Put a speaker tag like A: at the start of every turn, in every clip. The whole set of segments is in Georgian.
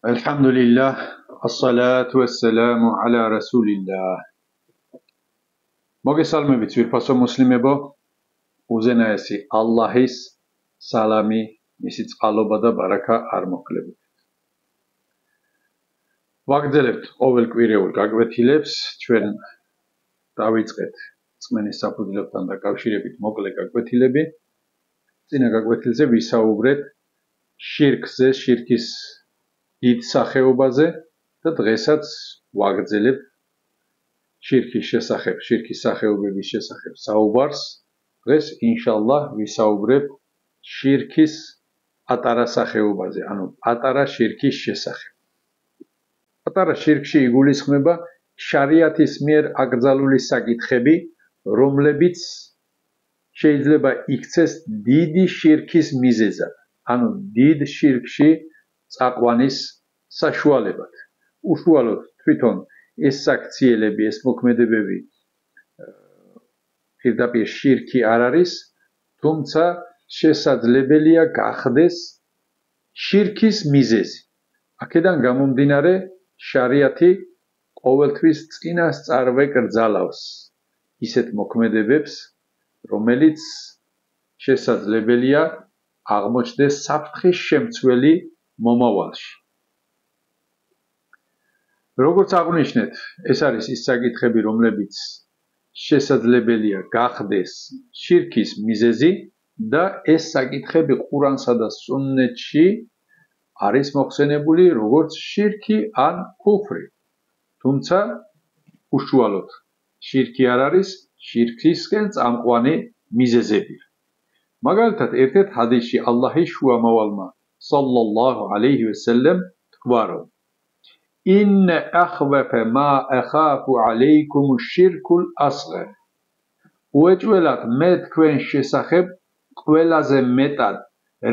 A: Alhamdulillah, as-salatu was-salamu ala rasulillah. მოგესალმებით ვირფასო მუსლიმებო, უზენაესი ალლაჰის სალამი, მისი წყალობა და ბარაკა არ მოკლებით. ვაგრძელებთ ყოველკვირეულ გაკვეთილებს, ჩვენ დავიწყეთ წმენის საფუძვლებთან დაკავშირებით მოკლე გაკვეთილები. წინა გაკვეთილზე ვისაუბრეთ შირკზე, შირკის დიდ სახეობაზე და დღესაც ვაგრძელებთ შირკის შესახებ, შირკის სახეობების შესახებ საუბარს. დღეს ინშალლაჰ ვისაუბრებ შირკის პატარა სახეობაზე, ანუ პატარა შირკის შესახებ. პატარა შირკში იგულისხმება შარიათის მიერ აკრძალული საკითხები, რომლებიც შეიძლება იქცეს დიდი შირკის მიზეზად, ანუ დიდ შირკში წაყვანის საშუალებად. უშუალოდ თვითონ ეს საქციელები, ეს მოქმედებები პირდაპირ შირკი არ არის, თუმცა შესაძლებელია გახდეს შირკის მიზეზი. აქედან გამომდინარე შარიათი ყოველთვის წინასწარვე კრძალავს ისეთ მოქმედებებს, რომელიც შესაძლებელია აღმოჩნდეს საფრთხის შემცველი მომავალში. როგორც აღვნიშნეთ, ეს არის ის საკითხები, რომლებიც შესაძლებელია გახდეს შირკის მიზეზი და ეს საკითხები ყურანსა და სუნნეთში არის მოხსენებული როგორც შირკი ან ქუფრი. თუმცა უშუალოდ შირკი არ არის, შირკისკენ წამყვანი მიზეზებია. მაგალითად, ერთ-ერთ ჰადისში ალლაჰის შუამავალმა სალლალლაჰუ ალეიჰი ვესელემ თქვა, რომ إن أخوف ما أخاف عليكم الشرك الأصغر. უეჭველად მე თქვენ შესახებ ყველაზე მეტად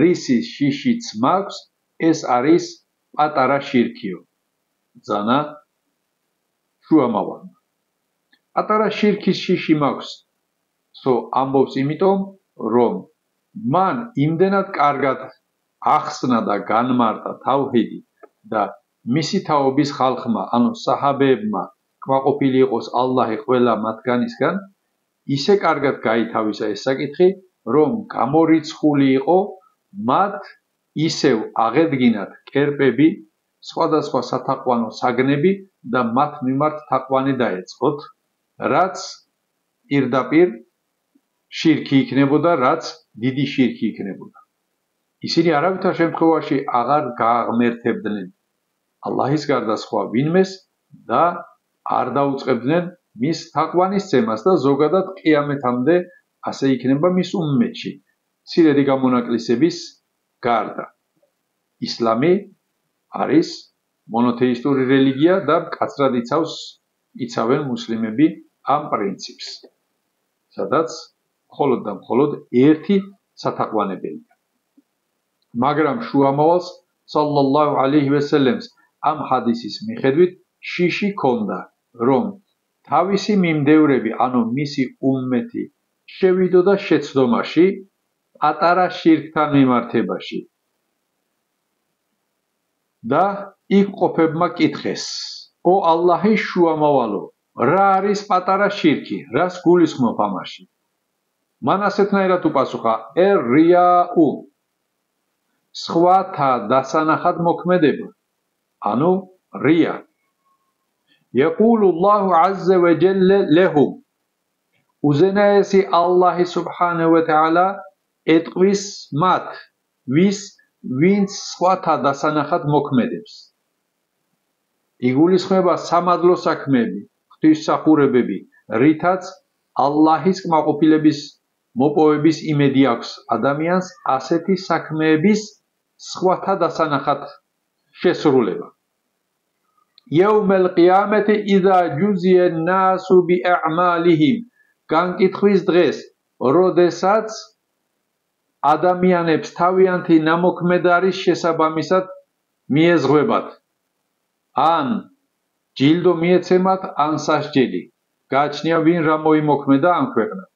A: რისის შიშიც მაქვს, ეს არის პატარა შირკიო. ძანა შუამავალმა. პატარა შირკის შიში მაქვს, ამბობს იმიტომ, რომ მან იმდენად კარგად ახსნა და განმარტა თავჰიდი და მისი თაობის ხალხმა, ანუ საჰაბეებმა, კმაყოფილი იყოს ალლაჰი ყველა მათგანისგან, ისე კარგად გაითავისა ეს საკითხი, რომ გამორიცხული იყო მათ ისევ აღედგინათ კერპები, სხვადასხვა სათაყვანო საგნები და მათ მიმართ თაყვანი დაეწყოთ, რაც პირდაპირ შირკი იქნებოდა, რაც დიდი შირკი იქნებოდა. ისინი არავითარ შემთხვევაში აღარ გააღმერთებდნენ ალლაჰის გარდა სხვა ვინმეს და არ დაუწყებდნენ მის თაყვანისცემას და ზოგადად ყიამეთამდე ასე იქნება მის უმმეტში, მცირედი გამონაკლისების გარდა. ისლამი არის მონოთეისტური რელიგია და მკაცრად იცავენ მუსლიმები ამ პრინციპს, სადაც მხოლოდ და მხოლოდ ერთი სათაყვანებელია. მაგრამ შუამავალს სალლალლაჰუ ალეიჰი ვესელემს ამ ჰადისის მიხედვით შიში ჰქონდა, რომ თავისი მიმდევრები, ანუ მისი უმმეთი შევიდოდა შეცდომაში პატარა შირკთან მიმართებაში და იქ მყოფებმა კითხეს, ო ალლაჰის შუამავალო, რა არის პატარა შირკი, რას გულისხმობ ამაში? მან ასეთნაირად უპასუხა, რიაუ, სხვათა დასანახად მოქმედება, ანუ რია. იყულულლაჰუ აზზა ვა ჯალლა ლაჰუმ. უზენაესი ალლაჰი სუბჰანაჰუ ვა თაალა ეტყვის მათ, ვინც სხვათა დასანახად მოქმედებს. იგულისხმება სამადლო საქმეები, ღვთისმსახურებები, რითაც ალლაჰის კმაყოფილების მოპოვების იმედი აქვს ადამიანს ასეთი საქმეების სხვათა დასანახად შესრულება. იაუმალ ყიამათი იზა ჯუზია ნასუ ბიაዕმალიჰიმ. განკითხვის დღეს, როდესაც ადამიანებს თავიანთი ნამოქმედარის შესაბამისად მიეზღვებათ, ან ჯილდო მიეცემათ, ან სასჯელი. გააჩნია ვინ რა მოიმოქმედა ამ ქვეყნად.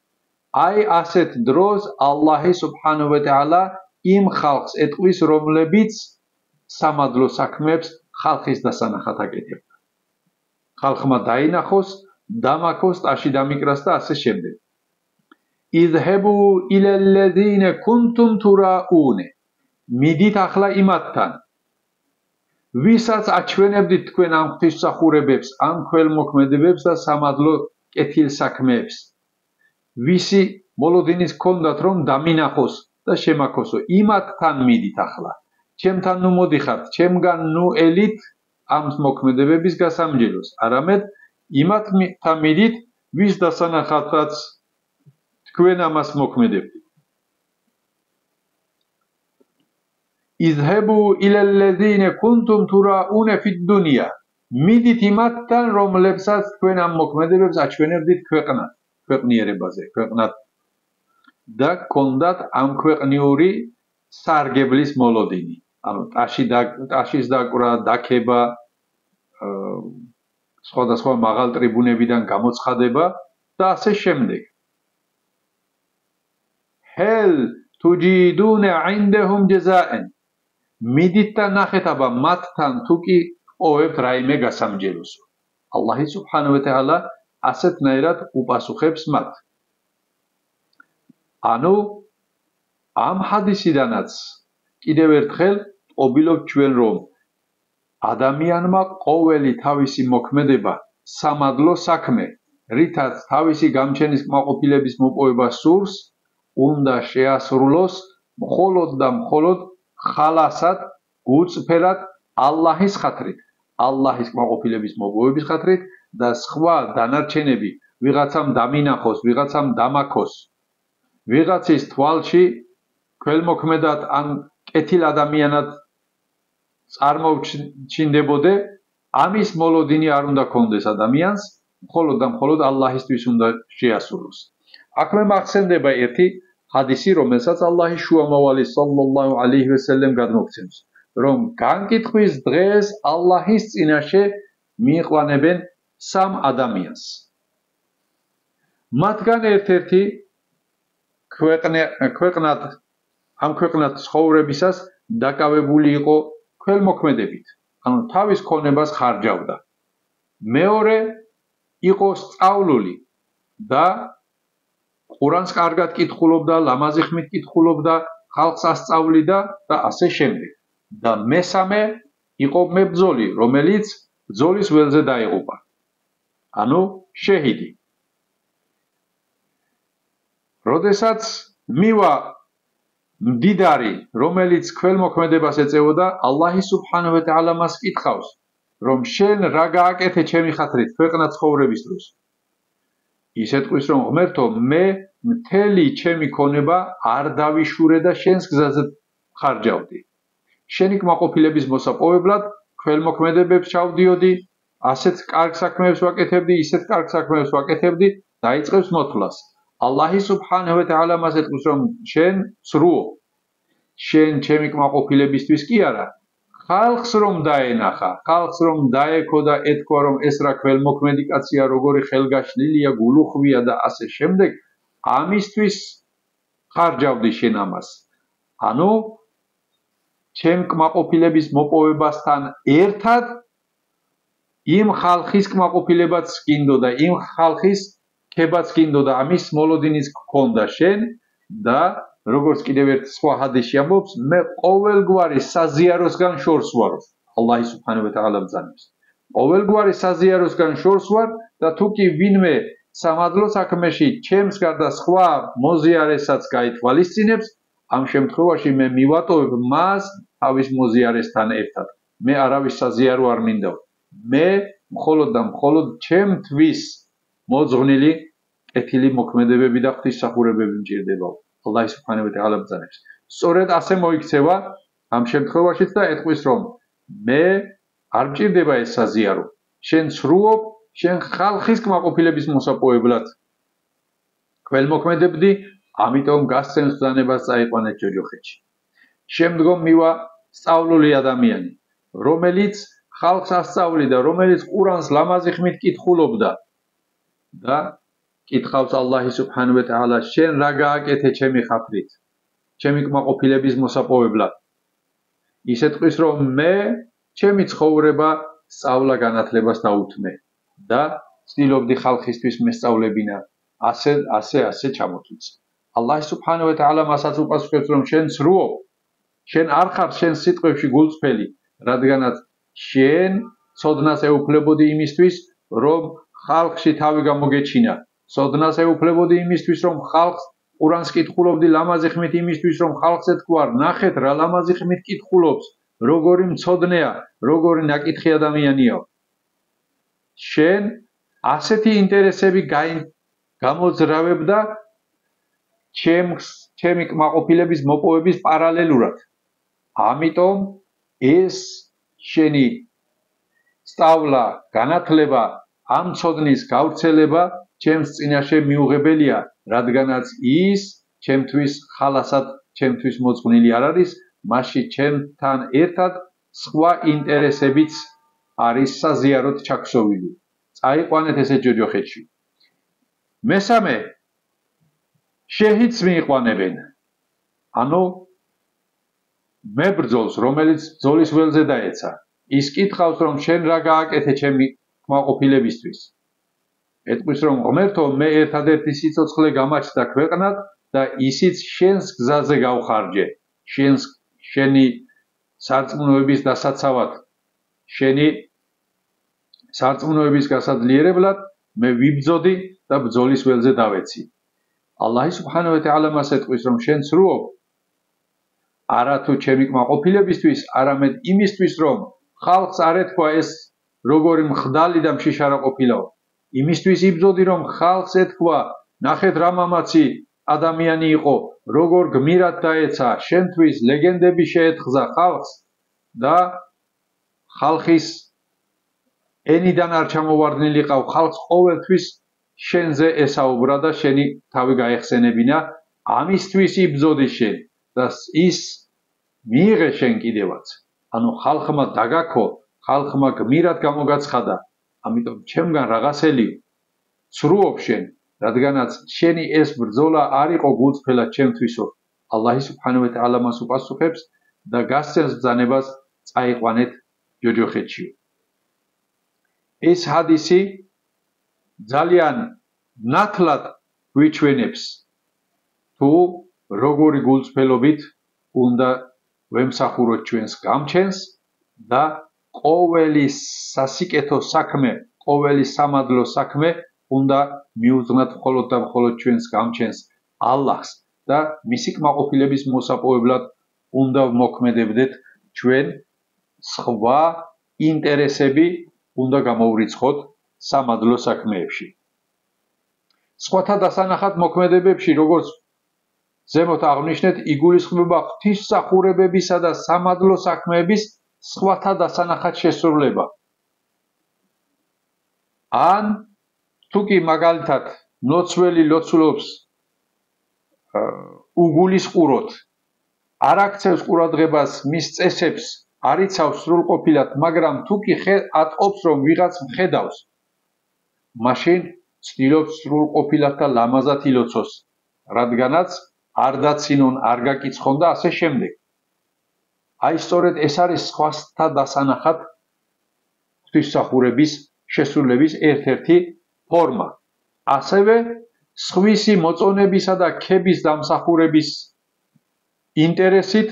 A: აი ასეთ დროს ალლაჰი სუბჰანაჰუ ვა თაალა იმ ხალხს ეტყვის, რომლებიც სამადლო საქმეებს ხალხის დასანახად აკეთებდა. ხალხმა დაინახოს, დამაქოს, ტაში დამიკრას და ასე შემდეგ. იძჰებუ ილალლაზინა კუნტუმ თურაუნე. მიდით ახლა იმათთან, ვისაც აჩვენებდით თქვენ ამ ღვთისმსახურებებს, ამ ქველმოქმედებებს და სამადლო კეთილ საქმეებს. ვისი მოლოდინის ჰქონდათ რომ დამინახოს და შემაქოსო, იმათთან მიდით ახლა. ჩემთან ნუ მოდიხართ, ჩემგან ნუ ელით ამ მოქმედებების გასამჯელოს, არამედ იმათთან მიდით, ვის დასანახადაც თქვენ ამას მოქმედებდით. იძჰებუ ილალლაზინა კუნტუმ თურაუნე ფიდ-დუნია. მიდით იმათთან, რომლებსაც თქვენ ამ მოქმედებებს აჩვენებდით ქვეყნიერებაზე, ქვეყნად და გქონდათ ამ ქვეყნიური სარგებლის მოლოდინი. ანუ ტაშის დაკვრა, დაქება, სხვადასხვა მაღალ ტრიბუნებიდან გამოცხადება და ასე შემდეგ. ჰელ თუჯიდუნა عندهم جزاء. მიდით და ნახეთ აბა მათთან თუ კი ოვებთ რაიმე გასამჯელოს. ალლაჰი სუბჰანაჰუ ვა თაალა ასეთნაირად უპასუხებს მათ. ანუ ამ ჰადისიდანაც კიდევ ერთხელ ყოფილობთ ჩვენ რომ ადამიანმა ყოველი თავისი მოქმედება სამადლო საქმე, რითაც თავისი გამჩენის კმაყოფილების მოპოვება სურს, უნდა შეასრულოს მხოლოდ და მხოლოდ ხალასად, გულწრფელად ალლაჰის ხათრით, ალლაჰის კმაყოფილების მოპოვების ხათრით და სხვა დანარჩენები ვიღაცამ დამინახოს, ვიღაცამ დამაქოს, ვიღაცის თვალში ქველმოქმედად ან კეთილ ადამიანად წარმოჩინდებოდე, ამის მოლოდინი არ უნდა კონდეს ადამიანს, მხოლოდ და მხოლოდ ალლაჰისთვის უნდა შეასრულოს. აქ მე მახსენდება ერთი ჰადისი, რომელსაც ალლაჰის შუამავალი სალლალლაჰუ ალეიჰი ვასალამ გადმოგცემს, რომ განკითხვის დღეს ალლაჰის წინაშე მიიყვანებენ სამ ადამიანს. მათგან ერთ-ერთი ამ ქვეყნად ცხოვრებისას დაკავებული იყო ქველმოქმედებით, ანუ თავის ქონებას ხარჯავდა. მეორე იყო სწავლული და ყურანს კარგად კითხულობდა, ლამაზი ხმით კითხულობდა, ხალხს ასწავლიდა და ასე შემდეგ. და მესამე იყო მებრძოლი, რომელიც ბრძოლის ველზე დაიღუპა. ანუ შეჰიდი. როდესაც მივა მდიდარი, რომელიც ქველმოქმედებას ეწეოდა, ალლაჰი სუბჰანაჰუ ვა თაალა მას კითხავს, რომ შენ რა გააკეთე ჩემი ხათრით ქვეყნად ცხოვრების დროს. ის ეთქვის რომ ღმერთო, მე მთელი ჩემი ქონება არ დავიშურე და შენს გზაზე ხარჯავდი. შენი კმაყოფილების მოსაპოვებლად ქველმოქმედებებს ჩავდიოდი, ასეთ კარგ საქმეებს ვაკეთებდი, ისეთ კარგ საქმეებს ვაკეთებდი, დაიწყებს მოთვლას. ალლაჰი სუბჰანაჰუ ვა თაალა მას ეთქვის რომ შენ სრუო, შენ ჩემი კმაყოფილებისთვის კი არა, ხალხს რომ დაენახა, ხალხს რომ დაეკო და ეთქვა რომ ეს რა ქველმოქმედი კაცია, როგორი ხელგაშლილია, გულუხვია და ასე შემდეგ, ამისთვის ხარჯავდი შენ ამას. ანუ ჩემ კმაყოფილების მოპოვებასთან ერთად იმ ხალხის კმაყოფილებაც გინდოდა, იმ ხალხის ქებაც გინდოდა, ამის მოლოდინიც გქონდა შენ და როგორც კიდევ ერთ სხვა ჰადისში ამბობს, მე ყოველგვარი საზიაროსგან შორს ვარ. ალლაჰი სუბჰანაჰუ ვა თაალა ბრძანებს. ყოველგვარი საზიაროსგან შორს ვარ და თუ კი ვინმე სამადლო საქმეში ჩემს გარდა სხვა მოზიარესაც გაითვალისწინებს, ამ შემთხვევაში მე მივატოვებ მას თავის მოზიარესთან ერთად. მე არავის საზიარო არ მინდა. მე მხოლოდ და მხოლოდ ჩემთვის მოძღვნილი კეთილი მოქმედებები და ღვთისმსახურებები მჭირდება. ალლაჰი სუბჰანაჰუ ვა თაალა ბრძანებს. სწორედ ასე მოიქცევა ამ შემთხვევაშიც და ეთქვის რომ მე არ მჭირდება ეს საზიარო. შენ სრუობ, შენ ხალხის კმაყოფილების მოსაპოვებლად ქველმოქმედებდი, ამიტომ გასცემს ბრძანებას წაიყვანეთ ჯოჯოხეთში. შემდგომ მივა სწავლული ადამიანი, რომელიც ხალხს ასწავლიდა, რომელიც ყურანს ლამაზი ხმით კითხულობდა და კითხავს ალლაჰი სუბჰანაჰუ ვა თაალა, შენ რა გააკეთე ჩემი ხათრით, ჩემი კმაყოფილების მოსაპოვებლად. ისე ტყვის რომ მე ჩემი ცხოვრება სწავლა განათლებას დაუთმე და ცდილობდი ხალხისთვის მესწავლებინა ასე ჩამოთვლის. ალლაჰ სუბჰანაჰუ ვა თაალა მასაც უპასუხებს რომ შენ სრუო, შენ არ ხარ შენ სიტყვებში გულწრფელი, რადგანაც შენ ცოდნას ეუფლებოდი იმისთვის რომ ხალხში თავი გამოგეჩინა, ცოდნას ეუფლებოდი იმისთვის რომ ხალხს ყურანს კითხულობდი ლამაზი ხმით იმისთვის რომ ხალხს ეთქვარ ნახეთ რა ლამაზი ხმით კითხულობს, როგორი მცოდნეა, როგორი ნაკითხი ადამიანია. შენ ასეთი ინტერესები გამოძრავებდა ჩემი კმაყოფილების მოპოვების პარალელურად. ამიტომ ეს შენი სწავლა, განათლება, ამ ცოდნის გავრცელება ჩემს წინაშე მიუღებელია, რადგანაც ის ჩემთვის ხალასად, ჩემთვის მოძღვნილი არ არის, მასში ჩემთან ერთად სხვა ინტერესებიც არის საზიაროდ ჩაქსოვილი. წაიყვანეთ ესე ჯოჯოხეთში. მესამე, შეჰიდს მიიყვანებენ. ანუ მებრძოლს, რომელიც ბრძოლის ველზე დაეცა. ის კითხავს რომ შენ რა გააკეთე ჩემი კმაყოფილებისთვის. ეტყვის რომ ღმერთო, მე ერთადერთი სიცოცხლე გამაჩნდა ქვეყნად და ისიც შენს გზაზე გავხარჯე. შენი სარწმუნოების დასაცავად, შენი სარწმუნოების გასაძლიერებლად მე ვიბრძოდი და ბრძოლის ველზე დავეცი. ალლაჰ სუბჰანაჰუ ვა თაალა მას ეტყვის რომ შენ სრუო, არა თუ ჩემი კმაყოფილებისთვის, არამედ იმისთვის რომ ხალხს არ ეთქვა ეს როგორი მხდალი და მშიშარა ყოფილაო. იმისთვის იბრძოდი რომ ხალხს ეთქვა ნახეთ რა მამაცი ადამიანი იყო, როგორ გმირად დაეცა, შენთვის ლეგენდები შეეთხზა ხალხს და ხალხის ენიდან არ ჩამოვარდნილიყავ, ხალხს ყოველთვის შენზე ესაუბრა და შენი თავი გაეხსენებინა, ამისთვის იბრძოდი შენ და ის მიიღე შენ კიდევაც. ანუ ხალხმა დაგაქო, ხალხმა გმირად გამოგაცხადა, ამიტომ ჩემგან რაღაცელი სრუობ შენ, რადგანაც შენი ეს ბრძოლა არ იყო გულწრფელად ჩემთვისო. ალლაჰ სუბჰანაჰუ ვა თაალა მას უპასუხებს და გასცემს ბრძანებას წაიყვანეთ ჯოჯოხეთში. ეს ჰადისი ძალიან ნათლად გვიჩვენებს თუ როგორი გულწრფელობით უნდა ვემსახუროთ ჩვენს გამჩენს და ყოველი სასიკეთო საქმე, ყოველი სამადლო საქმე უნდა მიუძღვნათ მხოლოდ და მხოლოდ ჩვენს გამჩენს ალლაჰს და მისი კმაყოფილების მოსაპოვებლად უნდა ვმოქმედებდეთ ჩვენ სხვა ინტერესები უნდა გამოვრიცხოთ სამადლო საქმეებში. სხვათა დასანახად მოქმედებებში, როგორც ზემოთ აღნიშნეთ, იგულისხმება ღვთისმსახურებებისა და სამადლო საქმეების სხვათა დასანახად შესრულება. ან თუ კი მაგალითად ლოცველი ლოცულობს უგულისყუროთ, არ აქცევს ყურადღებას მის წესებს, არ იცავს სრულყოფილად, მაგრამ თუ კი ატყობს რომ ვიღაც მხედავს, მაშინ ცდილობს სრულყოფილად და ლამაზად ილოცოს, რადგანაც არ დაცინონ, არ გაკიცხონ და ასე შემდეგ. აი სწორედ ეს არის სხვათა დასანახად ღვთისმსახურების შესრულების ერთ-ერთი ფორმა. ასევე სხვისი მოწონებისა და ქების დამსახურების ინტერესით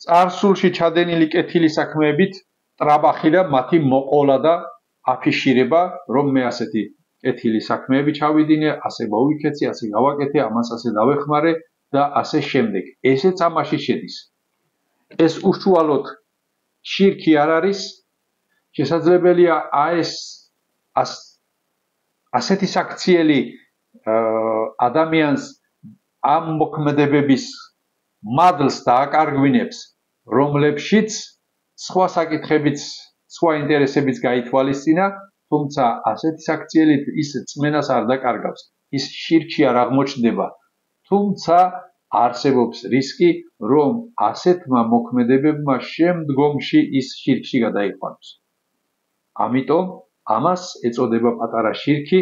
A: წარსულში ჩადენილი კეთილი საქმეებით ტრაბახი და მათი მოყოლა და აფიშირება, რომ მე ასეთი კეთილი საქმეები ჩავიდინე, ასე მოვიქეცი, ასე გავაკეთე, ამას ასე დავეხმარე და ასე შემდეგ. ესეც ამაში შედის. ეს უშუალოდ შირკი არ არის, შესაძლებელია ასეთი საქციელი ადამიანს ამ მოქმედებების მადლს დააკარგვინებს, რომლებშიც სხვა საკითხებიც, სხვა ინტერესებიც გაითვალისწინა, თუმცა ასეთი საქციელით ის წმენას არ დაკარგავს, ის შირკში არ აღმოჩნდება, თუმცა არსებობს რისკი, რომ ასეთმა მოქმედებებმა შემდგომში ის შირკში გადაიყვანოს. ამიტომ ამას ეწოდება პატარა შირკი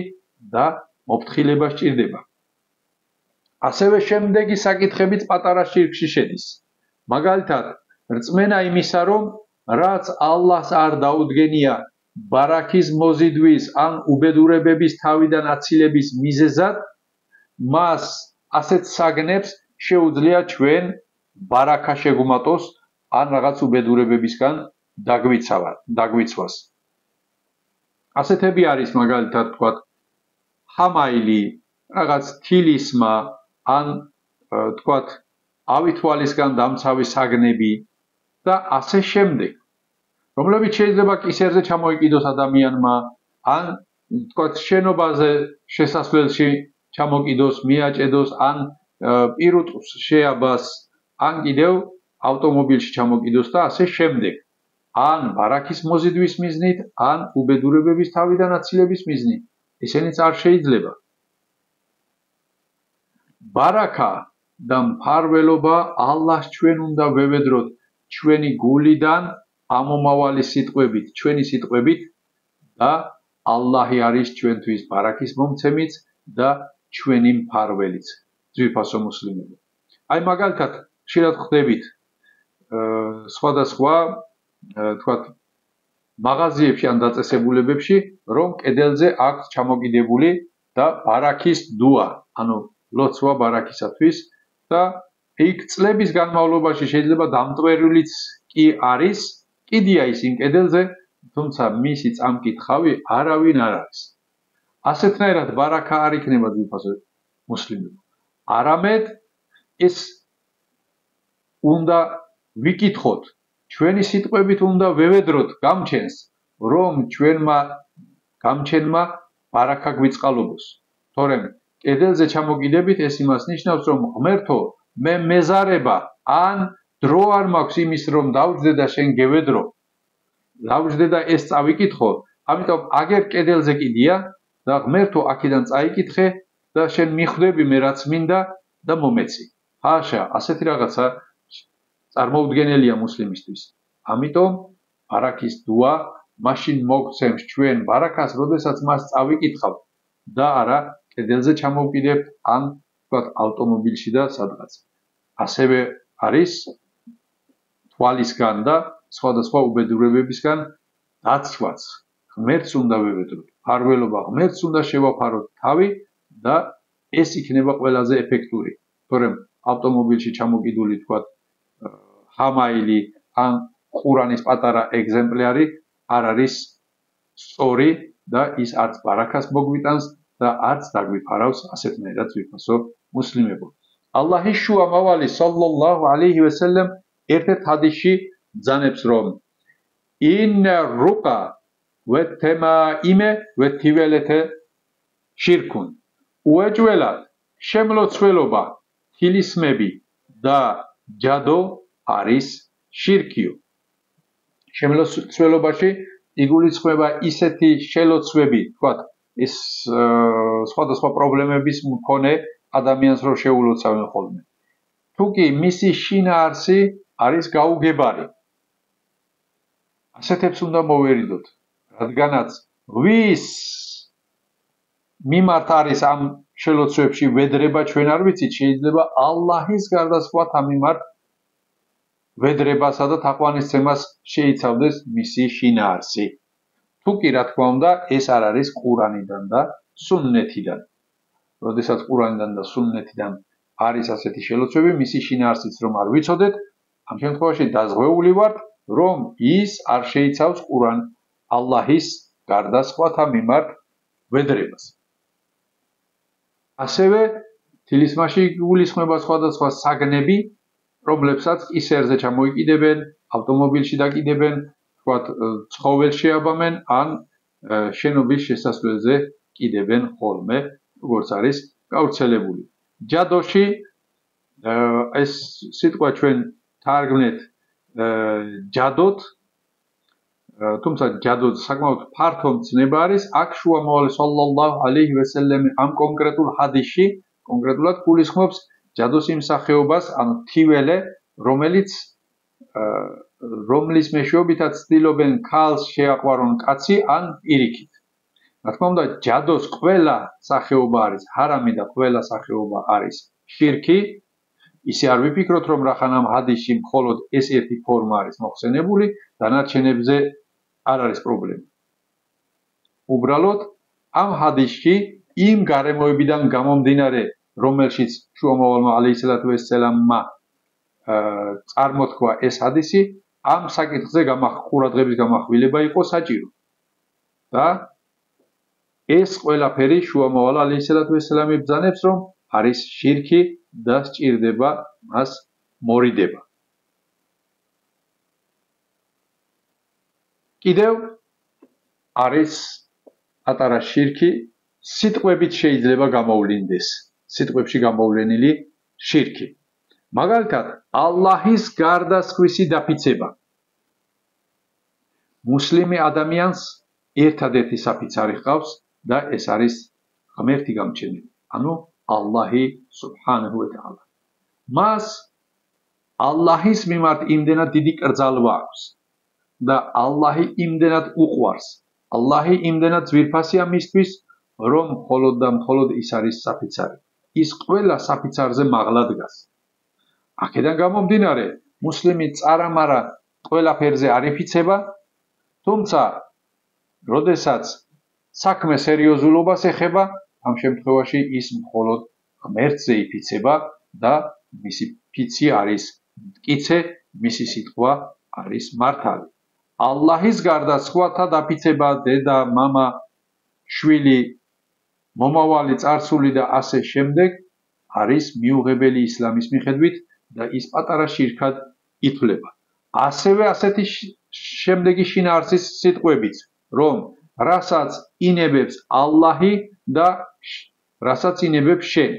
A: და მოფრთხილება სჭირდება. ასევე შემდეგი საკითხებიც პატარა შირკში შედის. მაგალითად, რწმენა იმისა, რომ რაც ალლაჰს არ დაუდგენია ბარაქის მოზიდვის ან უბედურებების თავიდან აცილების მიზეზად, მას ასეთ საგნებს შეუძლია ჩვენ ბარაქა შეგვმატოს ან რაღაც უბედურებებისგან დაგვიცვას. ასეთები არის მაგალითად თქვათ ჰამაილი, რაღაც თილისმა ან თქვათ ავითვალისგან დამცავი საგნები და ასე შემდეგ, რომლებიც შეიძლება კისერზე ჩამოიკიდოს ადამიანმა ან თქვათ შენობაზე შესასვლელში ჩამოკიდოს, მიაჭედოს ან პირუტყვს შეაბას, ან კიდევ ავტომობილში ჩამოკიდოს და ასე შემდეგ. ან ბარაქის მოზიდვის მიზნით, ან უბედურებების თავიდან აცილების მიზნით. ესენიც არ შეიძლება. ბარაქა და მფარველობა ალლაჰს ჩვენ უნდა ვევედროთ ჩვენი გულიდან ამომავალი სიტყვებით, ჩვენი სიტყვებით და ალლაჰი არის ჩვენთვის ბარაქის მომცემიც და ჩვენი მფარველიც. ძვირფასო მუსლიმებო. აი მაგალითად, ხშირად ხვდებით სხვადასხვა თქვათ მაღაზიებში ან დაწესებულებებში, რომ კედელზე აქვს ჩამოკიდებული და ბარაქის დუა, ანუ ლოცვა ბარაქისათვის და იქ წლების განმავლობაში შეიძლება დამტვერულიც კი არის, კიდია ის იმ კედელზე, თუმცა მისი წამკითხავი არავინ არ არის. ასეთნაირად ბარაქა არ იქნება ძვირფასო მუსლიმებო. არამედ ეს უნდა ვიკითხოთ, ჩვენი სიტყვებით უნდა ვევედროთ გამჩენს, რომ ჩვენმა გამჩენმა ბარაქა გვიწყალობოს. თორემ კედელზე ჩამოკიდებით ეს იმას ნიშნავს, რომ ღმერთო, მე მეზარება ან დრო არ მაქვს იმის, რომ დავჯდე და შენ გევედრო. დავჯდე და ეს წავიკითხო, ამიტომ აგერ კედელზე კიდია და ღმერთო აქედან წაიკითხე და შენ მიხვდები მე რაც მინდა და მომეცი. ჰაშა, ასეთი რაღაცა წარმოუდგენელია მუსლიმისთვის. ამიტომ ბარაქის დუა მაშინ მოგცემს ჩვენ ბარაქას, როდესაც მას წავიკითხავთ და არა კედელზე ჩამოვკიდებთ ან თქვათ ავტომობილში და სადღაც. ასევე არის თვალისგან და სხვადასხვა უბედურებებისგან დაცვაც. ღმერთს უნდა ვევედროთ, მფარველობა ღმერთს უნდა შევაფაროთ თავი და ეს იქნება ყველაზე ეფექტური. თორემ ავტომობილში ჩამოკიდული თქვათ ჰამაილი ან ყურანის პატარა ეგზემპლარი არ არის სწორი და ის არც ბარაქას მოგვიტანს და არც დაგვიფარავს ასეთნაირად ძვირფასო მუსლიმებო. ალლაჰის შუა მავალი სალლალლაჰუ ალეიჰი ვესელემ ერთ-ერთ ჰადისში ბრძანებს, რომ ინა რუკა ვეთემაიმე ვეთიველეთე შირკუნ. უეჭველად შემლოცველობა, თილისმები და ჯადო არის შირკიო. შემლოცველობაში იგულისხმება ისეთი შელოცვები, თქვათ, ეს სხვადასხვა პრობლემების მქონე ადამიანს რო შეულოცავენ ხოლმე. თუკი მისი შინაარსი არის გაუგებარი. ასეთებს უნდა მოვერიდოთ, რადგანაც ვის მიმართ არის ამ შელოცვებში ვედრება ჩვენ არ ვიცით, შეიძლება ალლაჰის გარდა სხვათა მიმართ ვედრებასა და თაყვანისცემას შეიცავდეს მისი შინაარსი. თუკი რა თქმა უნდა, ეს არ არის ყურანიდან და სუნნეთიდან. როდესაც ყურანიდან და სუნნეთიდან არის ასეთი შელოცვები, მისი შინაარსიც რომ არ ვიცოდეთ, ამ შემთხვევაში დაზღვეული ვართ, რომ ის არ შეიცავს ყურან ალლაჰის გარდა სხვათა მიმართ ვედრებას. ასევე თილისმაში იგულისხმება სხვადასხვა საგნები, რომლებსაც კისერზე ჩამოიკიდებენ, ავტომობილში დაკიდებენ, თქვათ, ცხოველს შეაბამენ ან შენობის შესასვლელზე კიდებენ ხოლმე, როგორც არის გავრცელებული. ჯადოში ეს სიტყვა ჩვენ თარგმნეთ ჯადოთ, თუმცა ჯადოთ საკმაოდ ფართო მცნება არის. აქ შუამავალი სალლალლაჰუ ალეიჰი ვესელემი ამ კონკრეტულ ჰადისში კონკრეტულად გულისხმობს ჯადოს იმ სახეობას, ანუ თიველე, რომლის მეშვეობითაც ცდილობენ ქალს შეაყვარონ კაცი ან პირიქით. რა თქმა უნდა, ჯადოს ყველა სახეობა არის ჰარამი და ყველა სახეობა არის შირკი, ისე არ ვიფიქროთ, რომ რახან ამ ჰადისში მხოლოდ ეს ერთი ფორმა არის მოხსენებული, დანარჩენებზე არ არის პრობლემა. უბრალოდ ამ ჰადისში იმ გარემოებიდან გამომდინარე, რომელშიც შუამავალმა ალეისალათუ ვესალამმა წარმოთქვა ეს ჰადისი, ამ საკითხზე ყურადღების გამახვილება იყო საჭირო. და ეს ყველაფერი შუამავალ ალეისალათუ ვესალამი ბრძანებს, რომ არის შირკი და სჭირდება მას მორიდება. კიდევ არის პატარა შირკი, სიტყვებით შეიძლება გამოვლინდეს, სიტყვებში გამოვლენილი შირკი. მაგალითად, ალლაჰის გარდასხვისი დაფიცება. მუსლიმი ადამიანს ერთადერთი საფიცარი ჰყავს და ეს არის ღმერთი გამჩენელი, ანუ ალლაჰი სუბჰანაჰუ ვა თაალა. მას ალლაჰის მიმართ იმდენად დიდი კრძალვა აქვს და ალლაჰი იმდენად უყვარს, ალლაჰი იმდენად ძვირფასია მისთვის, რომ მხოლოდ და მხოლოდ ის არის საფიცარი. ის ყველა საფიცარზე მაღლა დგას. აქედან გამომდინარე, მუსლიმი წარამარა ყველაფერზე არ იფიცება, თუმცა როდესაც საქმე სერიოზულობას ეხება, ამ შემთხვევაში ის მხოლოდ ღმერთზე იფიცება და მისი ფიცი არის მტკიცე, მისი სიტყვა არის მართალი. ალლაჰის გარდა სხვათა დაფიცება, დედა, მამა, შვილი, მომავალი წარსული და ასე შემდეგ არის მიუღებელი ისლამის მიხედვით და ის პატარა შირკად ითვლება. ასევე ასეთი შემდეგი შინაარსის სიტყვებიც, რომ რასაც ინებებს ალლაჰი და რასაც ინებებს შენ.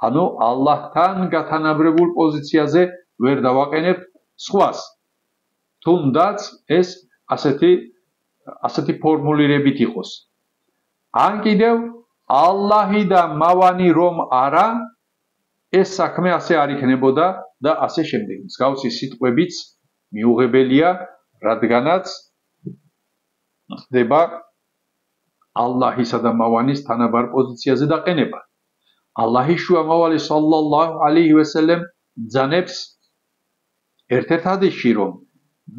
A: ანუ ალლაჰთან გათანაბრებულ პოზიციაზე ვერ დავაყენებთ სხვას. თუნდაც ეს ასეთი ფორმულირებით იყოს. ან კიდევ ალლაჰი და მავანი რომ არა, ეს საქმე ასე არ იქნებოდა და ასე შემდეგ. მსგავსი სიტყვებიც მიუღებელია, რადგანაც ხდება ალლაჰისა და მავანის თანაბარ პოზიციაზე დაყენება. ალლაჰის შუამავალი სალლალლაჰუ ალეიჰი ვესალამ ბრძანებს ერთ-ერთ ჰადისში, რომ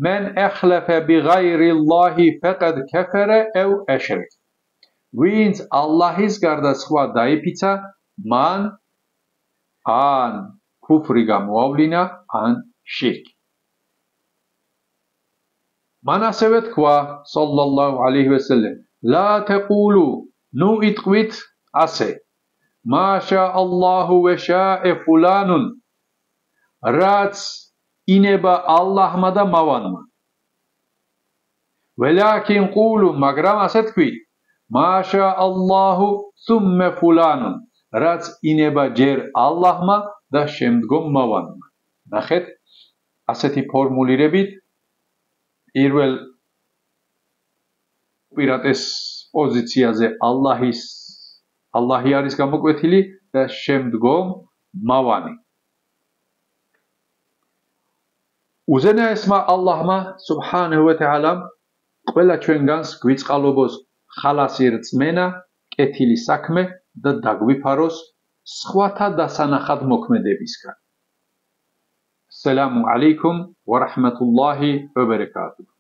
A: მენ ახლაფა ბიღაირილლაჰი ფაყად კაფარა აუ აშრაკ. ვინც ალლაჰის გარდა სხვა დაიფიცა, მან ან ქუფრი გამოავლინა, ან შირკი. მან ასევე თქვა სალლალლაჰუ ალეიჰი ვესალამ, ლა თაყულუ, ნუ იტყვით ასე, მაშა ალლაჰუ ვა შა'a ფულანუნ, რაც ინება ალლაჰმა და მავანმა. ველაკინ ყულუ, მაგრამ ასე თქვით, მაშა ალლაჰუ სუმმა ფულანუნ, რაც ინება ჯერ ალლაჰმა და შემდგომ მავანმა. ნახეთ, ასეთი ფორმულირებით პირველ პირატეს პოზიციაზე ალლაჰი არის გამოკვეთილი და შემდგომ მავანი. უზენაესმა ალლაჰმა სუბჰანაჰუ ვა თაალამ ყველა ჩვენგანს გვიწყალობოს ხალასი რწმენა, კეთილი საქმე და დაგვიფაროს სხვათა დასანახად მოქმედებისგან. სალამუ ალეიკუმ ვა რაჰმათულლაჰი ვა ბარაკატუჰ.